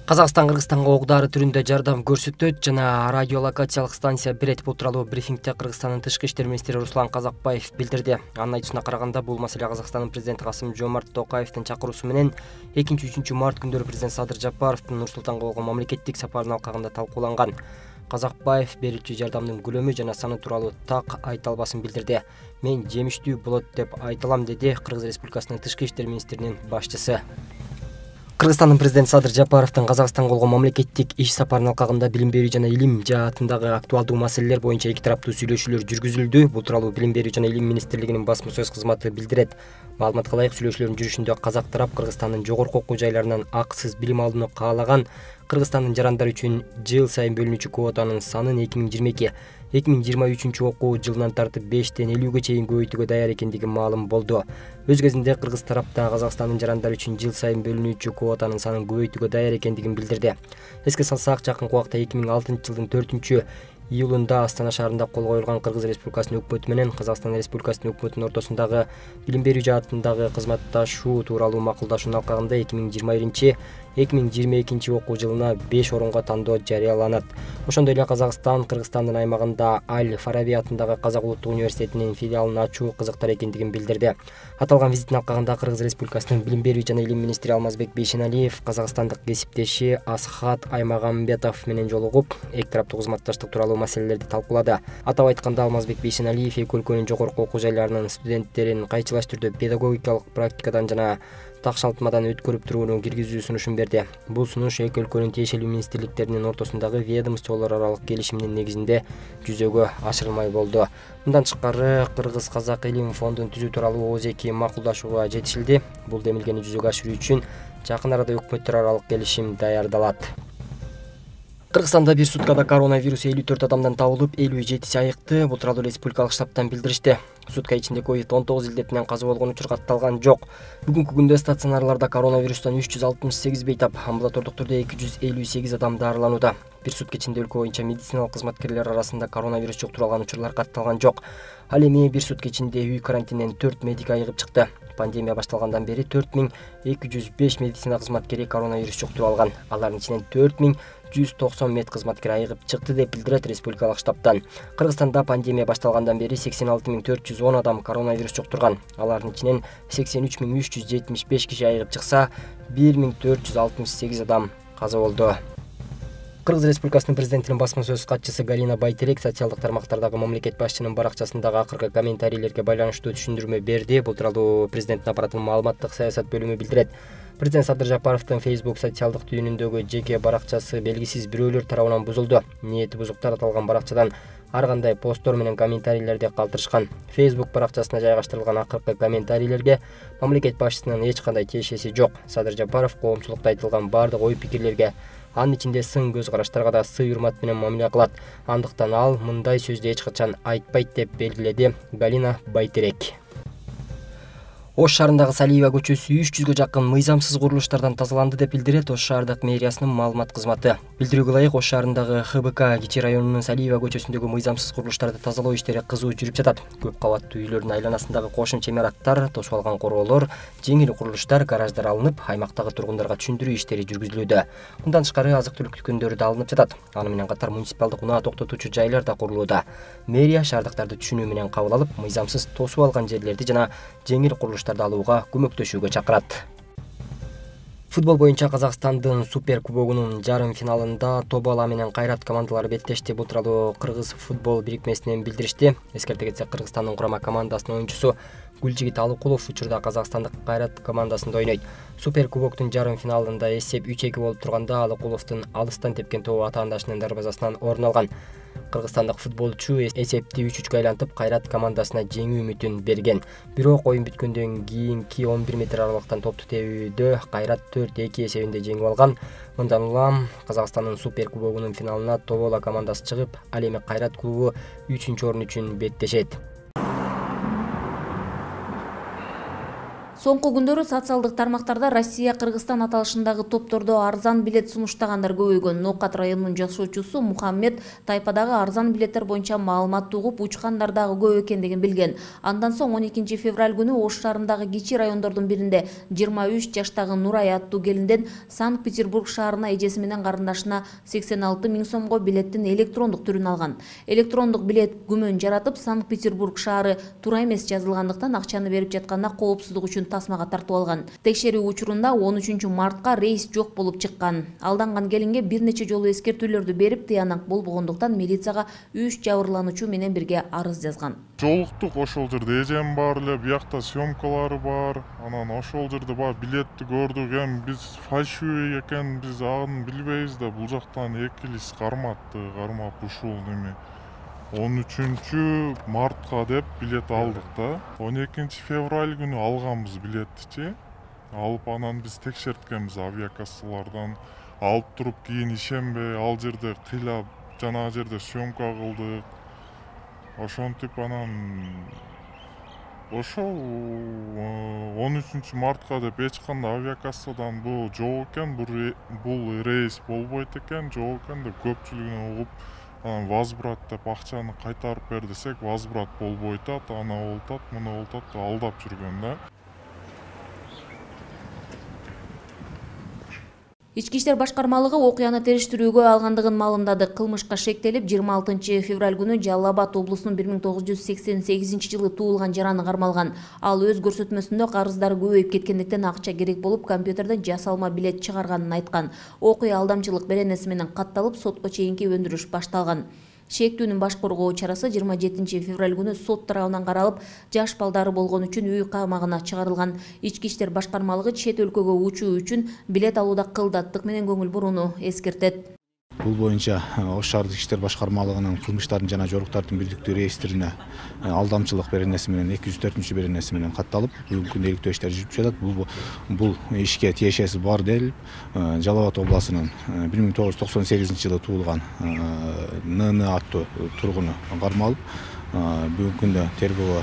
Казакстан Кыргызстанга ок-дары түрүндө жардам көрсөтөт жана радиолокациялык станция берет. Бул тууралуу брифингде Кыргызстандын тышкы иштер министри Руслан Казакбаев билдирди. Анын айтуусуна караганда, бул маселе Казакстандын президенти Касым-Жомарт Токаевдин чакыруусу менен 2-3 март күндөрү президент Садыр Жапаровдун Нур Султанга болгон мамлекеттик сапарынын алкагында талкууланган. Казакбаев берүүчү жардамдын көлөмү жана саны тууралуу так айта албасын билдирди. Мен жемиштүү болот деп айта алам, деди Кыргыз Республикасынын тышкы иштер министринин башчысы. Кыргызстандын президенти Садыр Жапаровдун Казакстанга болгон мамлекеттик иш сапарынын алкагында билим берүү жана илим жаатындагы актуалдуу маселелер боюнча эки тараптуу сүйлөшүүлөр жүргүзүлдү. Бул тууралуу Билим берүү жана илим министрлигинин басма сөз кызматы билдирет. Маалыматка ылайык, сүйлөшүүлөрдүн жүрүшүндө казак тарап Кыргызстандын жогорку окуу жайларынан акысыз билим алууну каалаган. Кыргызстандын жарандар үчүн жыл сайын бөлүнүүчү квотанын санын 2022-2023 окуу жылынан тартып 5ден 50ге чейин көбөйтүүгө даяр экендиги маалым болду. Өз кезинде Кыргыз тарапта Казакстандын жарандар үчүн жыл сайын бөлүнүүчү квотанын санын көбөйтүүгө даяр экендигин билдирди. Эске салсак, жакынкы убакта 2006-жылдын 4-июлунда Астана шаарында кол коюлган Кыргыз Республикасынын өкмөтү менен Казакстан Республикасынын өкмөтүнүн ортосундагы билим берүү жаатындагы кызматташуу тууралуу макулдашуунун алкагында 2021-2022 окуу жылына 5 орунга тандоо жарыяланат. Ошондой эле Казакстан Кыргызстандын аймагында Аль-Фараби атындагы Казак улуттук университетинин филиалын ачуу кызыктар экендигин билдирди. Аталган визиттин алкагында Кыргыз Республикасынын билим берүү жана илим министри Алмазбек Бейшеналиев казакстандык кесиптеши Асхат Аймагамбетов менен жолугуп, эки тараптуу кызматташтык тууралуу маселелерди талкуулады. Атап айтканда, Алмазбек Бейшеналиев эки өлкөнүн жогорку окуу жайларынын студенттерин кайчылаш түрдө педагогикалык практикадан жана такшалтмадан өткөрүп турууну киргизүү сунушун берди. Бул сунуш эки өлкөнүн тиешелүү министрликтеринин ортосундагы ведомстволор аралык келишимдин негизинде жүзөгө ашырылмай болду. Мындан тышкары, Кыргыз-Казак илим фондун түзүү тууралуу ооз-эки макулдашууга жетишилди. Бул демилгени жүзөгө ашыруу үчүн жакын арада өкмөттөр аралык келишим даярдалат. Кыргызстанда бир суткада коронавирус 54 адамдан табылып, 57си айыкты. Бул тууралуу республикалык штабтан билдиришти. Сутка ичинде COVID-19 илдетинен каза болгон учур катталган жок. Бүгүнкү күндө стационарларда коронавирустан 368 бейтап, амбулатордук түрдө 258 адам дарыланууда. Бир сутка ичинде өлкө боюнча медициналык кызматкерлер арасында коронавирус жуктурулган учурлар катталган жок. Ал эми бир сутка ичинде үй карантининен 4 медик айыгып чыкты. Пандемия башталгандан бери 4205 медицина кызматкери коронавирус жуктуруп алган. Алардын ичинен 4190 медкызматкер айыгып чыкты деп билдирет республикалык штабтан. Кыргызстанда пандемия башталгандан бери 86410 адам коронавирус жуктурган. Алардын ичинен 83375 киши айыгып чыкса, 1468 адам каза болду. Кыргыз Республикасынын президентинин басма сөз катчысы Галина Байтерек социалдык тармактардагы мамлекет башчынын баракчасындагы акыркы комментарийлерге байланыштуу түшүндүрмө берди. Бул тууралуу президенттин аппаратынын маалыматтык саясат бөлүмү билдирет. Президент Садыр Жапаровдун Facebook социалдык түйүнүндөгү жеке баракчасы белгисиз бирөөлөр тарабынан бузулду. Ниети бузуктар аталган баракчадан ар кандай посттор менен комментарийлерди калтырышкан. Facebook баракчасына жайгаштырылган акыркы комментарийлерге мамлекет башчысынын эч кандай тиешеси жок. Садыр Жапаров коомчулукта айтылган бардык ой-пикирлерге, анын ичинде сын көз караштарга да сый-урмат менен мамиле кылат. Андыктан ал мындай сөздү эч качан айтпайт деп белгиледи Галина Байтерек. Ош шаарындагы Салиева көчөсү 300гө жакын мыйзамсыз курулуштардан тазаланды деп билдирет Ош шаардык мэриясынын маалымат кызматы. Билдирүүгө ылайык, Ош шаарындагы ХБК Кичи районунун Салиева көчөсүндөгү мыйзамсыз курулуштарды тазалоо иштери кызуу жүрүп жатат. Көп кабаттуу үйлөрдүн айланасындагы кошумча имараттар, тосуп алган короолор, жеңил курулуштар, гараждар алынып, аймактагы тургундарга түшүндүрүү иштери жүргүзүлүүдө. Мындан тышкары азык-түлүк дүкөндөрү да алынып жатат. Аны менен катар муниципалдык унаа токтотуучу жайлар да курулууда. Мэрия шаардыктарды түшүнүү менен кабыл алып, мыйзамсыз тосуп алган жерлерди жана жеңил курулуштарды алууга көмөктөшүүгө чакырат. Футбол боюнча Казакстандын Супер кубогунун жарым финалында Тобала менен Кайрат командалары беттешти. Бул тууралуу Кыргыз футбол бирикмесинен билдиришти. Эскерте кетсек, Кыргызстандын курама командасынын оюнчусу Гүлжигит Алыкулов учурда казакстандык Кайрат командасында ойнойт. Супер кубоктун жарым финалында эсеп 3-2 болуп турганда Алыкуловдун алыстан тепкен тобу атаандашынын дарбазасынан орун алган. Кыргызстандык футболчу эсепти 3-3 айлантып Кайрат командасына жеңүү үмүтүн берген. Бирок оюн бүткөндөн кийинки 11 метр аралыктан топту тебүүдө Кайрат 4-2 эсебинде жеңип алган. Мындан улам Казакстандын Супер кубогунун финалына Тобола командасы чыгып, ал эми Кайрат клубу 3-орун үчүн беттешет. Соңку күндөрү социалдык тармактарда Россия-Кыргызстан аталышындагы топтордо арзан билет сунуштагандар көбөйгөн. Ноокат районунун жашоочусу Мухаммед тайпадагы арзан билеттер боюнча маалымат угуп, учкандар дагы көп экендигин билген. Андан соң 12 февраль күнү Ош шаарындагы кичи райондордун биринде 23 жаштагы Нурай аттуу келинден Санкт-Петербург шаарына эжеси менен карындашына 86 000 сомго билеттин электрондук түрүн алган. Электрондук билет күмөн жаратып, Санкт-Петербург шаары туура эмес жазылгандыктан акчаны берип жатканда коопсуздук үчүн тасмага тартып алган. Текшерүү учурунда 13 мартка рейс жок болуп чыккан. Алданган келинге бир нече жолу эскертүүлөрдү берип, тыянак болбогондуктан милицияга 3 жабырлануучу менен бирге арыз жазган. Жолуктук ошол жерде эжем бар эле, буякта съемкалары бар. Анан ошол жерде бар билетти көрдүк. Эми биз фальшивый экен, биз аны билбейбиз да. Бул жактан 2 лист карматты, кармап ушул неме 13 мартка деп билет алдык да. 12 февраль күнү алганбыз билеттичи. Алып анан биз текшерткенбиз авиакассалардан. Алып туруп кийин ишенбей ал жерде кыйлап, жанагы жерде съемка кылдык. Ошентип анан ошол 13 мартка деп эч кандай авиакассадан бул жок экен, бул рейс болбойт экен, жок экен деп көпчүлүгүнө угуп, анан возврат деп акчаны кайтарып бер десек, возврат болбой атат, ана болуп атат, мына болуп атат, алдап жүргөн да. Ички иштер башкармалыгы окуяны териштирүүгө алгандыгын маалымдады. Кылмышка шектелип 26 февраль күнү Жалал Абад облусунун 1988 туулган жараны кармалган. Ал өз көрсөтмөсүндө карыздары көбөйүп кеткендиктен акча керек болуп, компьютерден жасалма билет чыгарганын айткан. Окуя алдамчылык беренеси менен катталып, сотко чейинки өндүрүш башталган. Шектүүнүн баш коргоо чарасы 27 февраль күнү сот тарабынан каралып, жаш балдары болгон үчүн үй камагына чыгарылган. Ички иштер башкармалыгы чет өлкөгө учуу үчүн билет алууда кылдаттык менен көңүл бурууну эскертет. Бул боюнча Ош шаардык иштер башкармалыгынын кылмыштардын жана жоруктардын бирдиктүү реестрине алдамчылык беренеси менен 204 беренеси менен катталып, бүгүнкү күндө иликтөө иштери жүрүп жатат. Бул ишке тиешеси бар делип, Жалал Абад облусунун 1998 туулган НН аттуу тургуну кармалып, бүгүнкү күндө тергөөгө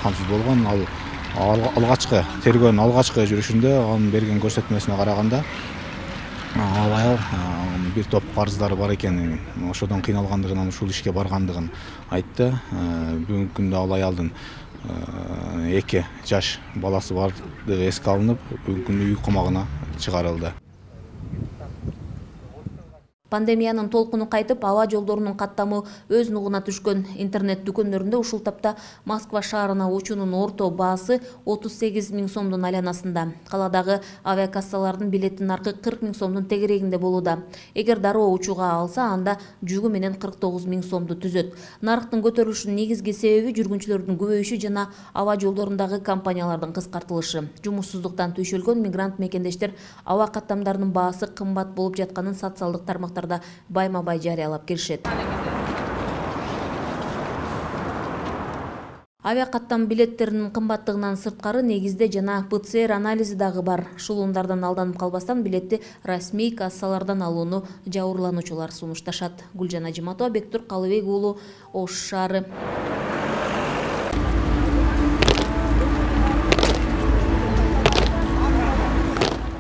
камсыз болгон. Ал алгачкы тергөөнүн алгачкы жүрүшүндө анын берген көрсөтмөсүнө караганда ал аял бир топ карыздары бар экенин, ошодон кыйналгандыгын, ушул ишке баргандыгын айтты. Бүгүнкү күндө ал аялдын 2 жаш баласы бардыгы эске алынып, бүгүнкү күндө үй камагына чыгарылды. Пандемиянын толкуну кайтып, аба жолдорунун каттамы өз нугуна түшкөн. Интернет дүкөндөрүндө ушул тапта Москва шаарына учуунун орто баасы 38 000 сомдун айланасында. Каладагы авиакассалардын билеттин наркы 40 000 сомдун тегерегинде болууда. Эгер дароо учууга алса, анда жүгү менен 49 000 сомду түзөт. Нарктын көтөрүлүшүнүн негизги себеби жүргүнчүлөрдүн көбөйүшү жана аба жолдорундагы компаниялардын кыскартылышы. Жумушсуздуктан түйшөлгөн мигрант мекендештер аба каттамдарынын баасы кымбат болуп жатканын социалдык тармактарда байма-бай жарыялап келишет. Авиакаттам билеттеринин кымбаттыгынан сырткары негизде жана ПЦР анализи дагы бар. Шулуундардан алданып калбастан билетти расмий кассалардан алууну жабырлануучулар сунушташат. Гүлжан Ажиматова, Бектур Калыбек уулу, Ош шаары.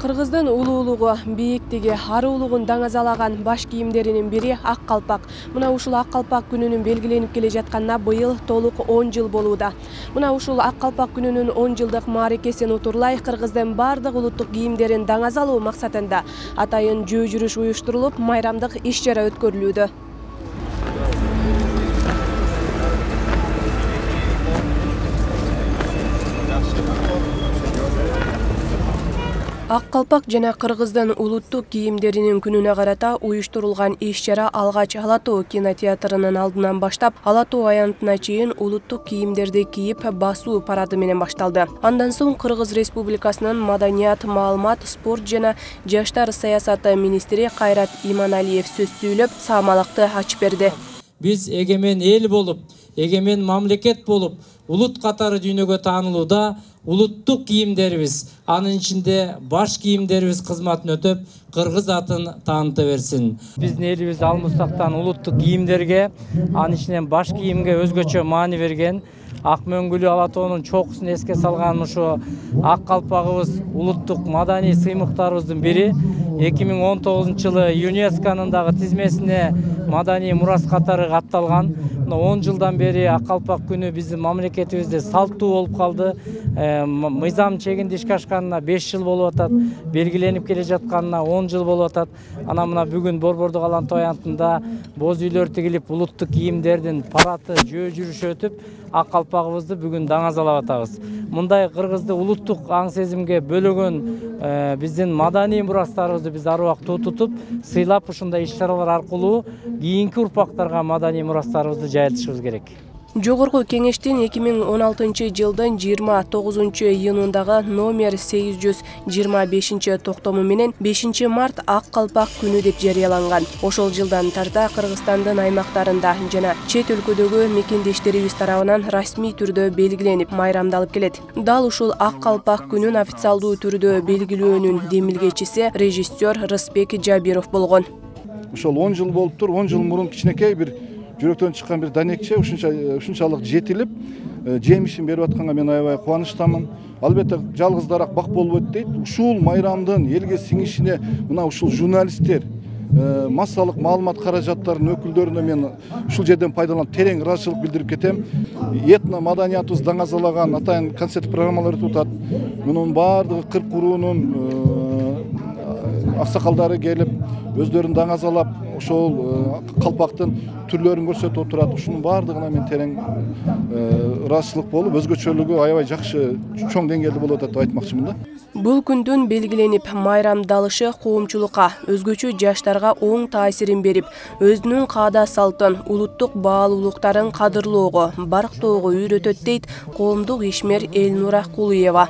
Кыргыздын улуулугу, бийиктиги, аруулугун даңазалаган баш кийимдеринин бири ак калпак. Мына ушул ак калпак күнүнүн белгиленип келе жатканына быйыл толук 10 жыл болууда. Мына ушул ак калпак күнүнүн 10 жылдык мааракесин утурлай Кыргыздын бардык улуттук кийимдерин даңазалоо максатында атайын жөө жүрүш уюштурулуп, майрамдык иш-чара өткөрүлүүдө. Ак калпак жана Кыргыздын улуттук кийимдеринин күнүнө карата уюштурулган иш-чара алгач Ала Тоо кинотеатрынын алдынан баштап, Ала Тоо аянтына чейин улуттук кийимдерди кийип басуу парады менен башталды. Андан соң Кыргыз Республикасынын маданият, маалымат, спорт жана жаштар саясаты министри Кайрат Иманалиев сөз сүйлөп, саамалыкты ачып берди. Биз эгемен эл болуп, эгемен мамлекет болуп, улут катары дүйнөгө таанылууда улуттук кийимдерибиз, анын ичинде баш кийимдерибиз кызматын өтөп, Кыргыз атын тааныта берсин. Биздин элибиз алмустактан улуттук кийимдерге, анын ичинен баш кийимге өзгөчө маани берген. ак мөңгүлүү ала тоонун чокусун эске салган ушу ак калпагыбыз улуттук маданий сыймыктарыбыздын бири. 2019 жылы ЮНЕСКОнун дагы тизмесине маданий мурас катары катталган. 10 жылдан бери ак калпак күнү биздин мамлекетибизде салттуу болуп калды. Мыйзам чегинде ишке ашканына 5 жыл болуп атат, белгиленип келе жатканына 10 жыл болуп атат. Ана мына бүгүн Борбордук алан той аянтында боз үйлөр тигилип, улуттук кийимдердин параты жөө жүрүшү өтүп, ак калпагыбызды бүгүн даңазалап атабыз. Мындай кыргызды улуттук аң сезимге бөлөгөн биздин маданий мурастарыбызды биз ар убакыт тутуп, сыйлап ушундай иш-чаралар аркылуу кийинки урпактарга маданий мурастарыбызды жайылтышыбыз керек. Жогорку кеңештин 2016 жылдын 29 июнундагы номер 825 токтому менен 5 март ак калпак күнү деп жарыяланган. Ошол жылдан тарта Кыргызстандын аймактарында жана чет өлкөдөгү мекендештерибиз тарабынан расмий түрдө белгиленип, майрамдалып келет. Дал ушул ак калпак күнүн официалдуу түрдө белгилөөнүн демилгечиси режиссер Рысбек Жабиров болгон. Ошол 10 жыл болуптур, 10 жыл мурун кичинекей бир жүрөктөн чыккан бир данекче ушунчалык жетилип, жемишин берип атканга мен аябай кубанычтамын. Албетте жалгыздарак бак болбойт дейт. Ушул майрамдын элге сиңишине мына ушул журналисттер, массалык маалымат каражаттарынын өкүлдөрүнө мен ушул жерден пайдаланып терең ыраазычылык билдирип кетем. Этно маданиятыбыз даңазалаган атайын концерт программалар өтүп атат. Мунун баардыгы кырк куруунун аксакалдары келип, өздөрүн даңазалап, ошол калпактын түрлөрүн көрсөтүп отурат. Ушунун баардыгына мен терең ыраазычылык болуп, өзгөчөлүгү аябай жакшы, чоң деңгээлде болуп атат деп айтмакчымын да. Бул күндүн белгиленип майрамдалышы коомчулукка, өзгөчө жаштарга оң таасирин берип, өзүнүн каада салтын, улуттук баалуулуктарын кадырлоого, барктоого үйрөтөт дейт коомдук ишмер Элнура Кулуева.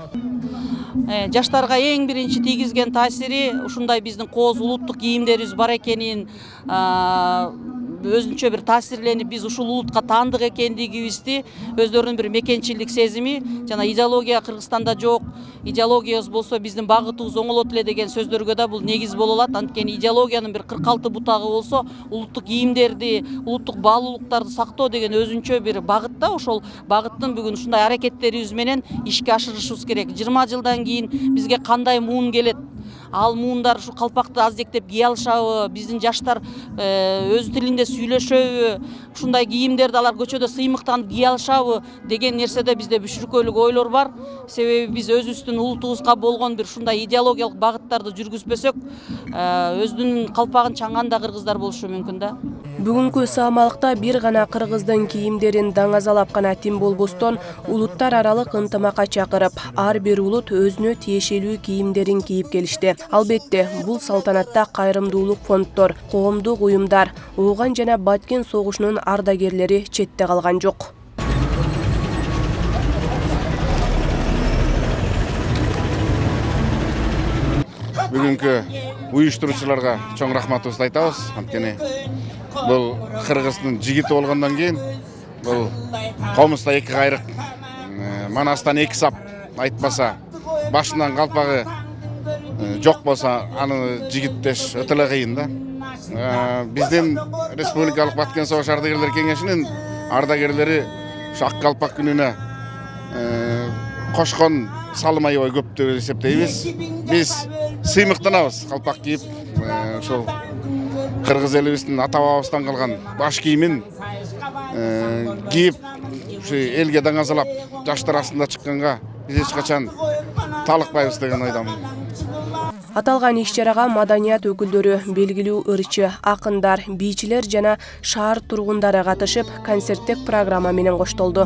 Жаштарга эң биринчи тийгизген таасири ушундай биздин кооз улуттук кийимдерибиз бар экенин, өзүнчө бир таасирленип, биз ушул улутка таандык экендигибизди, өздөрүнүн бир мекенчилдик сезими, жана идеология Кыргызстанда жок, идеологиябыз болсо биздин багытыбыз оңолот эле деген сөздөргө да бул негиз боло алат. Анткени идеологиянын бир 46 бутагы болсо, улуттук кийимдерди, улуттук баалуулуктарды сактоо деген өзүнчө бир багыт да. Ошол багыттын бүгүн ушундай аракеттерибиз менен ишке ашырышыбыз керек. 20 жылдан кийин бизге кандай муун келет? Ал муундар ушу калпакты аздектеп кие алышабы, биздин жаштар өз тилинде сүйлөшөбү, ушундай кийимдерди алар көчөдө сыймыктанып кие алышабы деген нерседе бизде бүшүркөлүк ойлор бар. Себеби биз өзүбүздүн улутубузга болгон бир ушундай идеологиялык багыттарды жүргүзбөсөк, өзүнүн калпагын чаңганда кыргыздар болушу мүмкүн да. Бүгүнкү саамалыкта бир гана кыргыздын кийимдерин даңазалап гана тим болбостон, улуттар аралык ынтымакка чакырып, ар бир улут өзүнө тиешелүү кийимдерин кийип келишти. Албетте, бул салтанатта кайрымдуулук фонддор, коомдук уюмдар, Ооган жана Баткен согушунун ардагерлери четте калган жок. Бүгүнкү уюштуруучуларга чоң рахматыбызды айтабыз. Анткени бул кыргыздын жигити болгондон кийин бул комузда эки кайрык, манастан эки сап айтпаса, башынан калпагы жок болсо, аны жигиттеш өтө эле кыйын да. Биздин Республикалык Баткен согуш ардагерлер кеңешинин ардагерлери ушу ак калпак күнүнө кошкон салым аябай көп деп эсептейбиз. Биз сыймыктанабыз калпак кийип, ошол кыргыз элибиздин ата бабабыздан калган баш кийимин кийип, ушу элге даңазалап, жаштар астында чыкканга биз эч качан талыкпайбыз деген ойдомун. Аталган иш-чарага маданият өкүлдөрү, белгилүү ырчы, акындар, бийчилер жана шаар тургундары катышып, концерттик программа менен коштолду.